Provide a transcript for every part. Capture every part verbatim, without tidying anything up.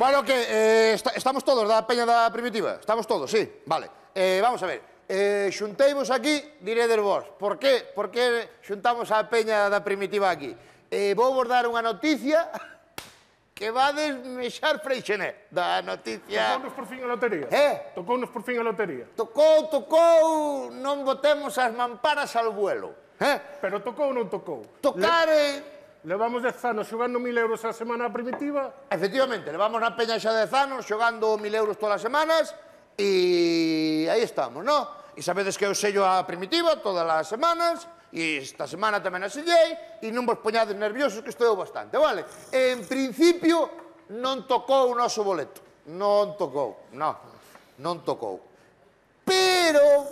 Bueno, que eh, est estamos todos da peña da primitiva? Estamos todos, sí? Vale. Eh, vamos a ver. Eh, xunteivos aquí, diredes vos. Por que? Por que xuntamos a peña da primitiva aquí? Eh, vou vos dar unha noticia que vades mexar Freixenet. Da noticia... Tocounos por fin a lotería. Eh? Tocounos por fin a lotería. Tocou, tocou, non botemos as mamparas ao vuelo. Eh? Pero tocou ou non tocou? Tocar... Eh... Levamos dez anos xogando mil euros a semana a primitiva. Efectivamente, levamos na peña xa dez anos xogando mil euros todas as semanas e aí estamos, non? E sabedes que eu sello a primitiva todas as semanas e esta semana tamén a sellei e non vos poñades nerviosos que estou bastante, vale? En principio non tocou o noso boleto, non tocou, non, non tocou. Pero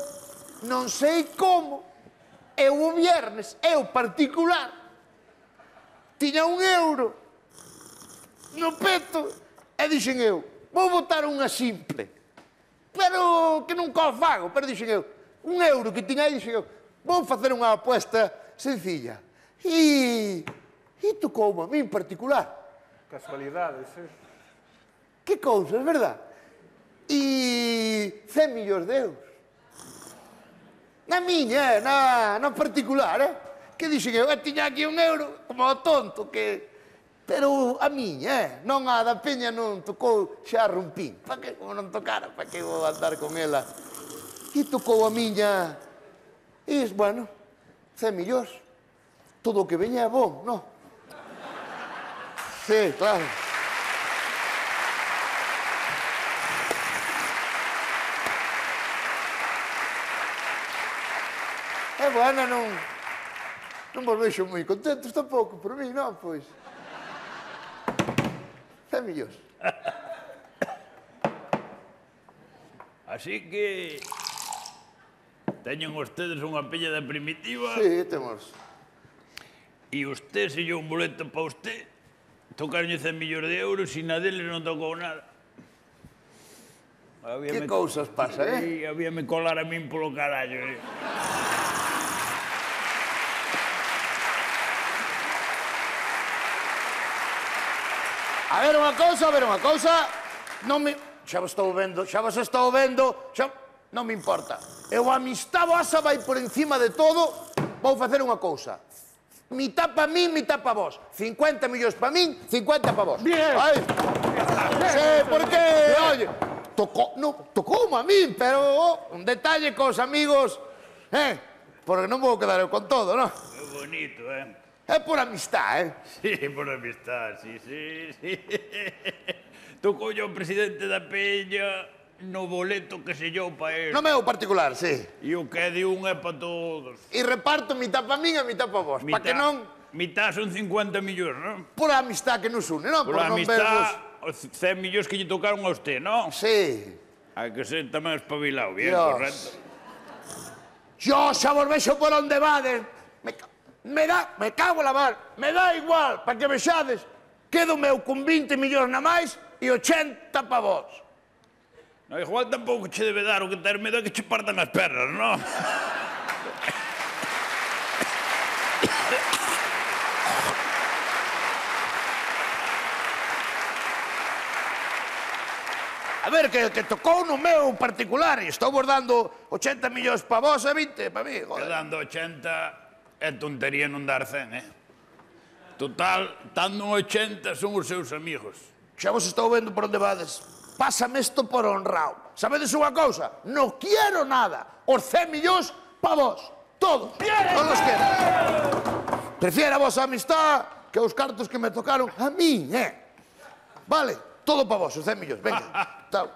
non sei como eu o viernes, eu particular, tiña un euro no peto e dixen eu, vou botar unha simple, pero que nunca o fago, pero dixen eu, un euro que tiña aí, dixen eu, vou facer unha apuesta sencilla. E... e tocoume a mí en particular. Casualidades, eh? Que cousas, verdad? E... cen millóns de euros. Na miña, na, na particular, eh? Que dixen eu, eu tiña aquí un euro, como o tonto, que... Pero a miña, eh? Non a da peña non tocou xa rompín. Pa que, como non tocara, pa que vou andar con ela? E tocou a miña... E, bueno, cen millóns. Todo o que veña é bom, non? Sí, claro. É bueno, non... Non vos vexo moi contentos tampouco, por mí, non, pois. cen millóns. Así que... teñen ustedes unha peña da primitiva... Sí, temos. E usted sellou un boleto para usted, tocaronlle cen millóns de euros e na deles non tocou nada. Que cousas pasa, eh? Sí, habíame colar a min polo carallo, eh? A ver unha cousa, a ver unha cousa, non me... Xa vos estou vendo, xa vos estou vendo, xa... Non me importa. Eu a amistad vosa vai por encima de todo, vou facer unha cousa. Mitad pa min, mitad pa vos. cincuenta millóns pa min, cincuenta pa vos. Bien. Ai. Sí, porque, oye, tocou, no, tocoume a min, pero oh, un detalle cos amigos, eh, porque non vou quedar eu con todo, non? É bonito, eh? É por amistad, eh? Sí, por amistad, sí, sí, sí. Tocoulle ao presidente da peña no boleto que sellou pa él. No meu particular, sí. E o que é de un é pa todos. E reparto mitad pa min e mitad pa vos, pa que non... Mitad son cincuenta millóns, non? Por a amistad que nos une, non? Por Por a non amistad, vervos... os cen millóns que lle tocaron a usted, non? Sí. Hai que ser tamén espabilado, bien, Dios. correcto. Yo xa vos vexo por onde vades. Me, ca... me da... Me cago la mar. Me dá igual, pa que vexades. Quedo meu con vinte millóns na máis e ochenta pa vos. No, igual tampouco che debe dar o que ter medo é que che partan as pernas, non? A ver, que, que tocou no meu particular e estou vos dando ochenta millóns pa vos e vinte pa mí, Que joder. dando ochenta é tontería non dar cen, eh? Total, dando ochenta son os seus amigos. Xa vos estou vendo por onde vades. Pásame isto por honrado. Sabedes unha cousa? Non quiero nada. Os cen millóns pa vos. Todos. Todos os quero. Prefiero a vosa amistad que os cartos que me tocaron a mí, eh? Vale, todo pa vos, os cen millóns. Venga,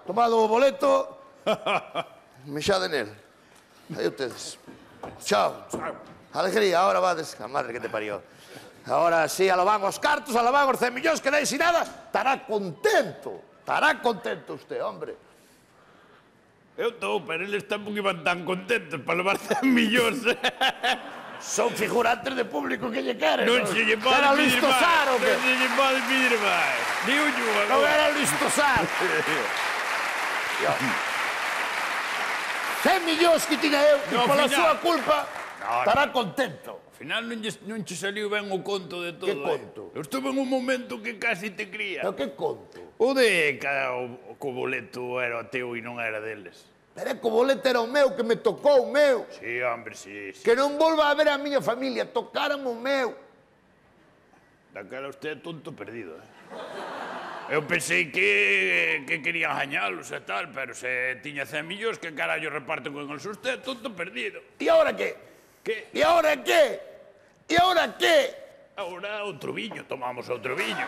tomado o boleto, mexade nel. Aí ustedes. Chao. Alegría, ahora vades. A madre que te parió. Ahora sí, a lo van os cartos, a lo van os cen millóns, que dais sin nada. Estará contento. Estará contento usted, hombre. Eu estou, pero eles tampouco iban tan contentos para levar cen millóns. Son figurantes de público que lle queren. Non se lle pode Era pedir Luis Tosar, o máis. que? Non se lle pode pedir máis. Ni un yu Non agora. era Luis Tosar. cen millóns que tiña eu, e No, pola final. súa culpa, No, estará contento. Ao final non, lle, non che saliu ben o conto de todo. Que conto? Eh? Eu estuve en un momento que casi te cría. Pero que conto? O de que o, o boleto era teu e non era deles. Pero é que o boleto era o meu, que me tocou o meu. Sí, hombre, sí, sí. Que non volva a ver a miña familia, tocaran o meu. Daquela usted é tonto perdido, eh? Eu pensei que, que querían gañalos e tal, pero se tiña cen millóns, que carallo reparte con eles usted, tonto perdido. E agora que? Que? E agora que? E agora que? Agora outro viño, tomamos outro viño.